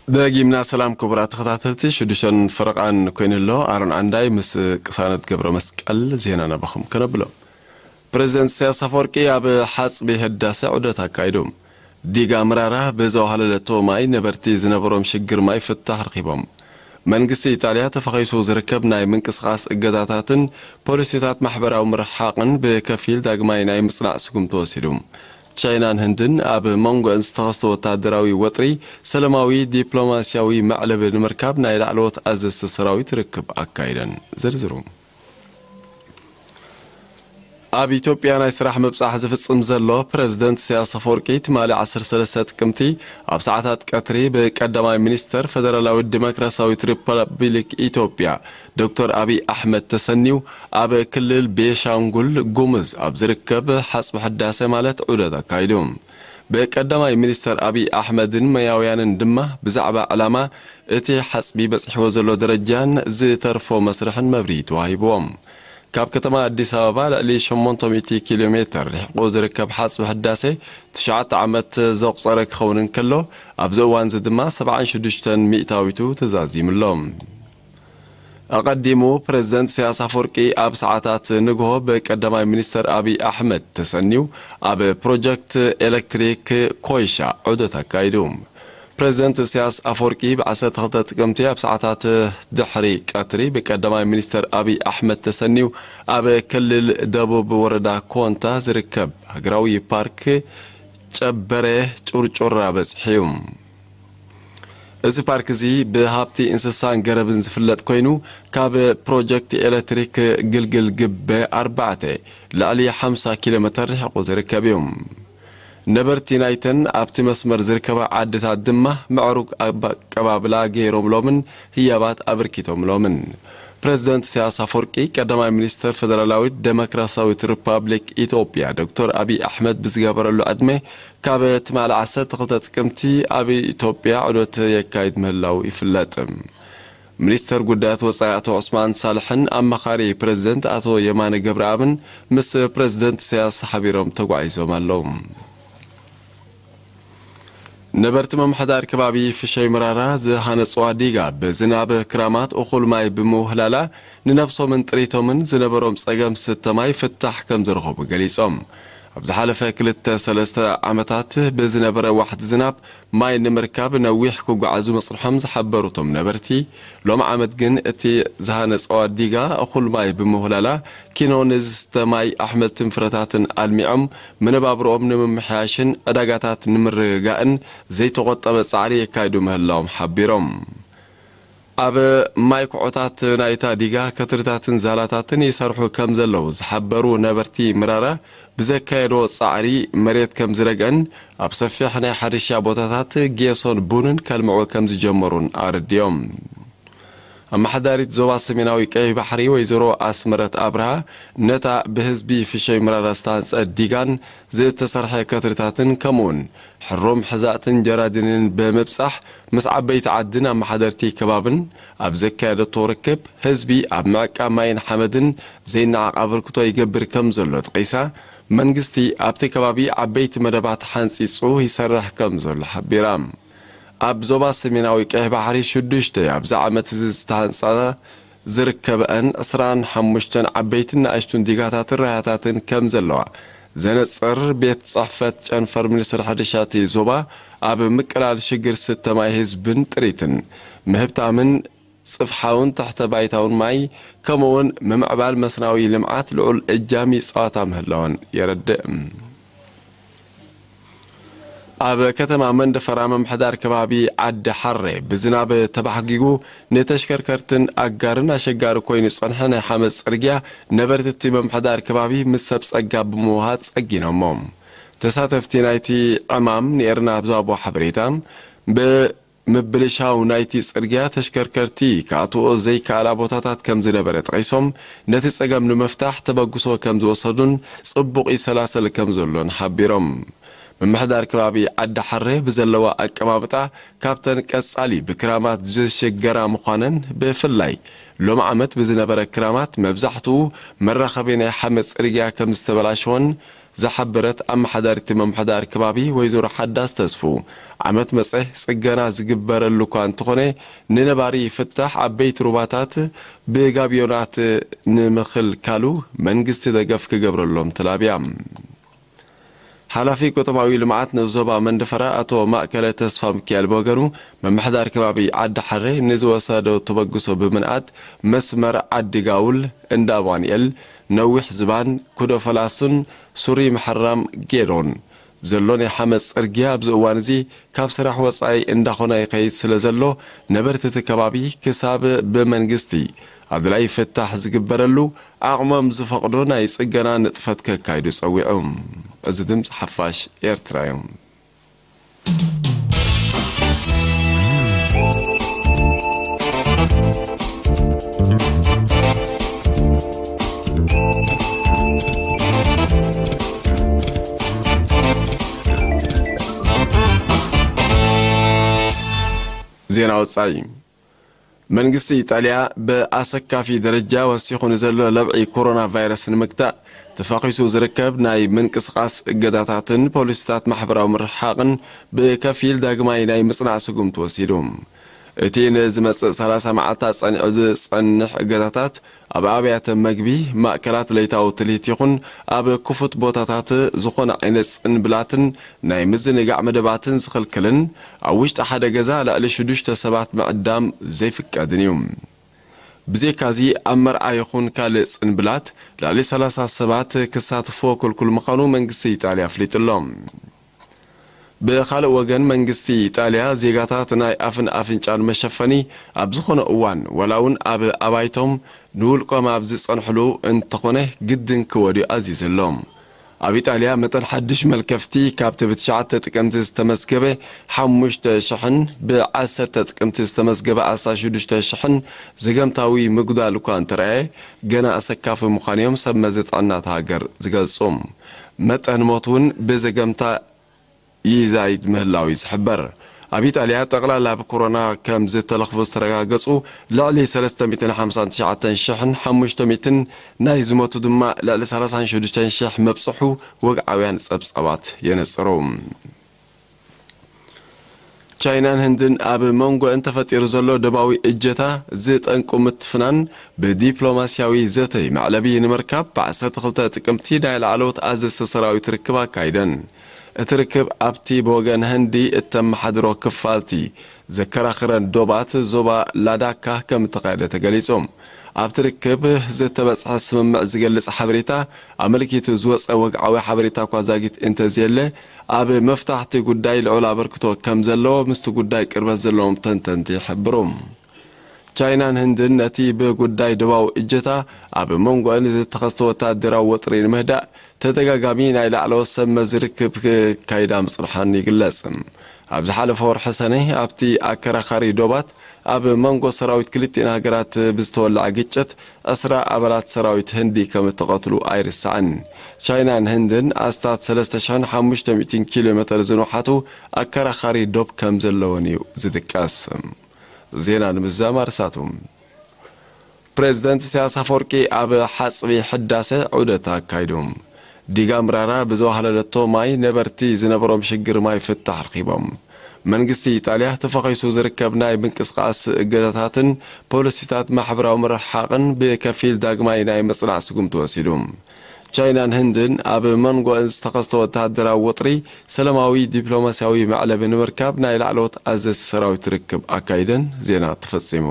ደጊምና ሰላም ክቡራት ተኸታተልቲ፣ ሽዱሽተን ፈረቓን ኮይኑ ኣሎ። ኣሮን ዓንዳይ ምስ ቅሳነት ገብረ መስቀል ዜና ናባኹም ከነብሎ። ፕሬዚደንት ኢሳያስ ኣፈወርቂ ኣብ ሓጽቢ ህዳሰ ዑደት ኣካይዱ። ዲጋ ምራራ ብዘዋህለለቶ ማይ ነበርቲ ዝነበሮም ሽግር ማይ ፍታሕ ረኺቦም። መንግስቲ ኢጣልያ ተፈኺሱ ዝርከብ ናይ ምንቅስቓስ እገዳታትን ፖሊሲታት ማሕበራዊ ምርሓቕን ብከፊል ዳግማይ ናይ ምጽናዕ ስጉምቲ ወሲዱ። ቻይናን ህንድን ኣብ መንጎአን ዝተኸስተ ወታደራዊ ወጥሪ ሰላማዊ ዲፕሎማስያዊ መዕለቢ ንምርካብ ናይ ላዕለዎት ኣዘዝቲ ሰራዊት ርክብ ኣካይደን። ዝርዝሩ። ኣብ ኢትዮጵያ ናይ ስራሕ ምብጻሕ ዝፍጽም ዘሎ ፕረዚደንት ኢሳያስ ኣፈወርቂ፣ ትማሊ ዓሰርተ ሰለስተ ጥቅምቲ ኣብ ሰዓታት ቀትሪ ብቀዳማይ ሚኒስተር ፈደራላዊት ዲሞክራሲያዊት ሪፐብሊክ ኢትዮጵያ ዶክተር ኣብይ ኣሕመድ ተሰንዩ፣ ኣብ ክልል ቤሻንጉል ጉሙዝ ኣብ ዝርከብ ሓጽቢ ሕዳሴ ማለት ዑደት ኣካይዱ። ብቀዳማይ ሚኒስተር ኣብይ ኣሕመድን መያውያንን ድማ ብዛዕባ ዕላማ እቲ ሓጽቢ በጺሕዎ ዘሎ ደረጃን ዝተርፎ መስርሕን መብርሂ ተዋሂብዎም። ካብ ከተማ ኣዲስ ኣበባ ልዕሊ ሸሞንተ ሚእቲ ኪሎ ሜተር ርሒቑ ዝርከብ ሓጽቢ ሕዳሴ ትሽዓተ ዓመት ዘቑጸረ ክኸውን እንከሎ፣ ኣብዚ እዋንዚ ድማ ሰብዓን ሽዱሽተን ሚእታዊቱ ተዛዚሙ ኣሎ። ኣቐዲሙ ፕረዚደንት ኢሳያስ ኣፈወርቂ ኣብ ሰዓታት ንግሆ ብቀዳማይ ሚኒስተር ኣብይ ኣሕመድ ተሰንዩ ኣብ ፕሮጀክት ኤሌክትሪክ ኮይሻ ዑደት ኣካይዱ። ፕረዚደንት ኢሳያስ ኣፈወርቂ ብ ዓሰርተ ክልተ ጥቅምቲ ኣብ ሰዓታት ድሕሪ ቀትሪ ብቀዳማይ ሚኒስተር ኣብይ ኣሕመድ ተሰንዩ ኣብ ክልል ደቡብ ወረዳ ኮንታ ዝርከብ ሃገራዊ ፓርክ ጨበረ ጩርጩራ በጺሑ እዩ። እዚ ፓርክ እዚ ብሃብቲ እንስሳን ገረብን ዝፍለጥ ኮይኑ፣ ካብ ፕሮጀክት ኤሌክትሪክ ግልግል ግበ ኣርባዕተ ልዕሊ ሓምሳ ኪሎ ሜተር ርሒቑ ዝርከብ እዩ። ነበርቲ ናይተን ኣብቲ መስመር ዝርከባ ዓድታት ድማ ምዕሩግ ኣቀባብላ ገይሮምሎምን ህያባት ኣበርኪቶምሎምን። ፕረዚደንት ኢሳያስ ኣፈወርቂ፣ ቀዳማይ ሚኒስተር ፈደራላዊት ደሞክራሲያዊት ሪፓብሊክ ኢትዮጵያ ዶክተር ኣብይ ኣሕመድ ብዝገበረሉ ዕድመ፣ ካብ ትማሊ ዓሰርተ ክልተ ጥቅምቲ ኣብ ኢትዮጵያ ዑደት የካይድ ምህላው ይፍለጥ። ሚኒስተር ጉዳያት ወጻኢ ኣቶ ዑስማን ሳልሕን ኣማኻሪ ፕረዚደንት ኣቶ የማነ ገብረኣብን ምስ ፕረዚደንት ኢሳያስ ሓቢሮም ተጓዒዞም ኣለዉ። ነበርቲ ምምሕዳር ከባቢ ፍሸይ ምራራ ዝሃነጽዋ ዲጋ ብዝናብ ክራማት እኹል ማይ ብምውህላላ ንነብሶምን ጥሪቶምን ዝነበሮም ጸገም ስተ ማይ ፍታሕ ከም ዝረኸቡ ገሊጾም። ኣብ ዝሓለፈ ክልተ ሰለስተ ዓመታት ብዝነበረ ዋሕዲ ዝናብ ማይ ንምርካብ ነዊሕ ክጓዓዙ መጽንሖም ዝሓበሩ እቶም ነበርቲ፣ ሎም ዓመት ግን እቲ ዝሃነጸዋ ዲጋ እኹል ማይ ብምውህላላ ኪኖ ንዝስተ ማይ ኣሕምልትን ፍረታትን ኣልሚዖም መነባብሮኦም ንምምሕያሽን ዕዳጋታት ንምርግጋእን ዘይተቖጠበ ጻዕሪ የካይዱ ምህላዎም ሓቢሮም። ኣብ ማይ ኩዖታት ናይታ ዲጋ ከትርታትን ዛላታትን ይሰርሑ ከም ዘለዉ ዝሓበሩ ነበርቲ ምራራ፣ ብዘካየድዎ ጻዕሪ መሬት ከም ዝረግአን ኣብ ሰፊሕ ናይ ሕርሻ ቦታታት ጌሶን ቡንን ከልምዑ ከም ዝጀመሩን ኣረዲኦም። ኣመሓዳሪት ዞባ ሰሜናዊ ቀይሕ ባሕሪ ወይዘሮ ኣስመረት ኣብርሃ፣ ነታ ብህዝቢ ፍሸይ ምራራ ዝተሃንጸት ዲጋን ዝተሰርሐ ከትርታትን ከምኡውን ሕሩም ሕዛእትን ጀራዲንን ብምብጻሕ ምስ ዓበይቲ ዓድን ኣመሓደርቲ ከባብን ኣብ ዘካየደቶ ርክብ፣ ህዝቢ ኣብ ምዕቃብ ማይን ሓመድን ዘይነዓቕ ኣበርክቶ ይገብር ከም ዘሎ ጠቒሳ፣ መንግስቲ ኣብቲ ከባቢ ዓበይቲ መደባት ሓንጺጹ ይሰርሕ ከም ዘሎ ሓቢራ። ኣብ ዞባ ሰሜናዊ ቀይሕ ባሕሪ ሽዱሽተ ኣብዚ ዓመት እዚ ዝተሃንጻ ዝርከበአን ዕስራን ሓሙሽተን ዓበይትን ንኣሽቱን ዲጋታትን ራያታትን ከም ዘለዋ ዘነጽር ቤት ጽሕፈት ጨንፈር ሚኒስትሪ ሕርሻ እቲ ዞባ፣ ኣብ ምቅላል ሽግር ስተ ማይ ህዝብን ጥሪትን ምህብታምን ጽፍሓውን ትሕተ ባይታውን ማይ፣ ከምኡውን ምምዕባል መስናዊ ልምዓት ልዑል እጃም ይጻወታ ምህላወን የረድእ። ኣብ ከተማ መንደፈራ ምምሕዳር ከባቢ ዓዲ ሓሬ ብዝናብ ተባሕጊጉ ንተሽከርከርትን ኣጋርን ኣሸጋሪ ኮይኑ ዝጸንሐ ናይ ሓመድ ጽርግያ ነበርቲ እቲ ምምሕዳር ከባቢ ምስ ሰብ ጸጋ ብምውሃድ ጸጊኖሞ። ተሳተፍቲ ናይቲ ዕማም ንኤርና ኣብ ዝሃብዎ ሓበሬታ፣ ብምብልሻው ናይቲ ጽርግያ ተሽከርከርቲ ክኣትዎ ዘይከኣላ ቦታታት ከም ዝነበረ ጠቒሶም፣ ነቲ ጸገም ንምፍታሕ ተበግሶ ከም ዝወሰዱን ጽቡቕ ይሰላሰል ከም ዘሎን ሓቢሮም። ምምሕዳር ከባቢ ዓዲ ሓሬ ብዘለዋ ኣቀማምጣ ካብተን ቀጻሊ ብክራማት ዝሽገራ ምዃነን፣ ብፍላይ ሎም ዓመት ብዝነበረ ክራማት መብዛሕትኡ መራኸቢ ናይ ሓመድ ጽርግያ ከም ዝተበላሸወን ዝሓበረት ኣመሓዳሪት ምምሕዳር ከባቢ ወይዘሮ ሓዳስ ተስፉ፣ ዓመት መጸ ጽገና ዝግበረሉ እኳ እንተኾነ፣ ንነባሪ ፍታሕ ዓበይቲ ሩባታት ብጋብዮናት ንምኽልካሉ መንግስቲ ደገፍ ክገብረሎም ተላብያ። ሓላፊ ቁጠባዊ ልምዓት ንዞባ መንደፈራ ኣቶ ማእከለ ተስፋ ሚካኤል ብወገኑ፣ ምምሕዳር ከባቢ ዓዲ ሓሬ ንዝወሰዶ ተበግሶ ብምንኣድ፣ መስመር ዓዲ ጋውል፣ እንዳ ኣማኑኤል፣ ነዊሕ ዝባን፣ ኩዶ ፈላሱን ሱሪ ምሕራም ጌዶን ዘሎ ናይ ሓመድ ጽርግያ ኣብዚ እዋን እዚ ካብ ስራሕ ወጻኢ እንዳኾነ ይኸይድ ስለ ዘሎ፣ ነበርቲ እቲ ከባቢ ክሳብ ብመንግስቲ ኣድላዪ ፍታሕ ዝግበረሉ ዓቕሞም ዝፈቕዶ ናይ ጽገና ንጥፈት ከካይዱ ጸዊዑ። እዚ ድምጺ ሓፋሽ ኤርትራ እዩ። ዜና ወጻኢ። መንግስቲ ኢጣልያ ብኣሰካፊ ደረጃ ወሲኹ ንዘሎ ለብዒ ኮሮና ቫይረስ ንምግታእ ተፋኺሱ ዝርከብ ናይ ምንቅስቓስ እገዳታትን ፖሊሲታት ማሕበራዊ ምርሕሓቕን ብከፊል ዳግማይ ናይ ምጽናዕ ስጉምቲ ወሲዱ። እቲ ንዝመጽእ ሰላሳ መዓልታት ጸኒዑ ዝጸንሕ እገዳታት ኣብ ኣብያተ መግቢ፣ ማእከላት ለይታዊ ትልሂት ይኹን ኣብ ክፉት ቦታታት ዝኾነ ዓይነት ጽንብላትን ናይ ምዝንጋዕ መደባትን ዝኽልክልን ኣብ ውሽጢ ሓደ ገዛ ልዕሊ ሽዱሽተ ሰባት ምዕዳም ዘይፍቀድን እዩ። ብዘይካዚ ኣብ መርዓ ይኹን ካልእ ጽንብላት ልዕሊ ሰላሳ ሰባት ክሳትፍዎ ክልኩል ምዃኑ መንግስቲ ኢጣልያ ኣፍሊጡ ኣሎ። ብኻልእ ወገን መንግስቲ ኢጣልያ ዜጋታት ናይ ኣፍን ኣፍንጫን መሸፈኒ ኣብ ዝኾነ እዋን ዋላ እውን ኣብ ኣባይቶም ንውልቆም ኣብ ዝጸንሕሉ እንተኾነ ግድን ክወድዩ ኣዚዙ ኣሎ። ኣብ ኢጣልያ መጠን ሓድሽ መልከፍቲ ካብቲ ብትሽዓተ ጥቅምቲ ዝተመዝገበ ሓሙሽተ ሽሕን ብዓሰርተ ጥቅምቲ ዝተመዝገበ ኣስታት ሽዱሽተ ሽሕን ዘገምታዊ ምጉዳል እኳ እንተረኣየ፣ ገና ኣሰካፊ ምዃኑ እዮም ሰብ መዚ ጥዕና እታ ሃገር ዝገልጹ። መጠን ሞት እውን ብዘገምታ ይዛይድ ምህላው እዩ ዝሕበር። ኣብ ኢጣልያ ጠቕላላ ብኮሮና ከም ዝተለኽፉ ዝተረጋገጹ ልዕሊ ሰለስተ ሚእትን ሓምሳን ትሽዓተን ሽሕን ሓሙሽተ ሚእትን፣ ናይ ዝሞቱ ድማ ልዕሊ ሰላሳን ሽዱሽተን ሽሕ መብጽሑ ወግዓውያን ጸብጻባት የነጽሩ። ቻይናን ህንድን ኣብ መንጎ እንተፈጢሩ ዘሎ ደባዊ እጀታ ዝጠንቁ ምትፍናን ብዲፕሎማስያዊ ዘተይ መዕለቢ ንምርካብ ብዓሰርተ ክልተ ጥቅምቲ ናይ ላዕለዎት ኣዘዝቲ ሰራዊት ርክብ ኣካይደን። እቲ ርክብ ኣብቲ ብወገን ህንዲ እተመሓድሮ ክፋልቲ ዘከራኽረን ዶባት ዞባ ላዳካ ከም እተኻየደ ተገሊጹ። ኣብቲ ርክብ ዝተበጽሐ ስምምዕ ዝገልጽ ሓበሬታ ኣመልኪቱ ዝወጸ ወግዓዊ ሓበሬታ እኳ ዛጊት እንተዘየለ፣ ኣብ መፍታሕቲ ጉዳይ ልዑል ኣበርክቶ ከም ዘለዎ ምስቲ ጉዳይ ቅርበት ዘለዎም ተንተንቲ ይሕብሩ። ቻይናን ህንድን ነቲ ብጉዳይ ደባዊ እጀታ ኣብ መንጎአን ዝተኸስተ ወታደራዊ ወጥሪ ንምህዳእ ተደጋጋሚ ናይ ላዕለዎት ሰብ መዚ ርክብ ክካይዳ ምጽንሓን ይግለጽ። ኣብ ዝሓለፈ ወርሒ ሰነ ኣብቲ ኣከራኻሪ ዶባት ኣብ መንጎ ሰራዊት ክልቲኤን ሃገራት ብዝተወለዐ ግጭት ዕስራ ኣባላት ሰራዊት ህንዲ ከም እተቐትሉ ኣይርሳዕን። ቻይናን ህንድን ኣስታት ሰለስተ ሽሕን ሓሙሽተ ሚእትን ኪሎ ሜተር ዝንውሓቱ ኣከራኻሪ ዶብ ከም ዘለወን እዩ ዝጥቀስ። ዜና ንምዝዛም ኣርሳቱ። ፕሬዝደንት ኢሳያስ ኣፈወርቂ ኣብ ሓጽቢ ሕዳሰ ዑደት ኣካይዱ። ዲጋ ምራራ ብዝዋሃለለቶ ማይ ነበርቲ ዝነበሮም ሽግር ማይ ፍታሕ ረኺቦም። መንግስቲ ኢጣልያ ተፈኺሱ ዝርከብ ናይ ምንቅስቓስ እገዳታትን ፖሊሲታት ማሕበራዊ ምርሕሓቕን ብከፊል ዳግማይ ናይ ምጽናዕ ስጉምቲ ወሲዱ። ቻይናን ህንድን ኣብ መንጎ ዝተኸስተ ወተሃደራዊ ወጥሪ ሰላማዊ ዲፕሎማስያዊ መዕለቢ ንምርካብ ናይ ላዕለዎት ኣዘዝቲ ሰራዊት ርክብ ኣካይደን። ዜና ተፈጺሙ።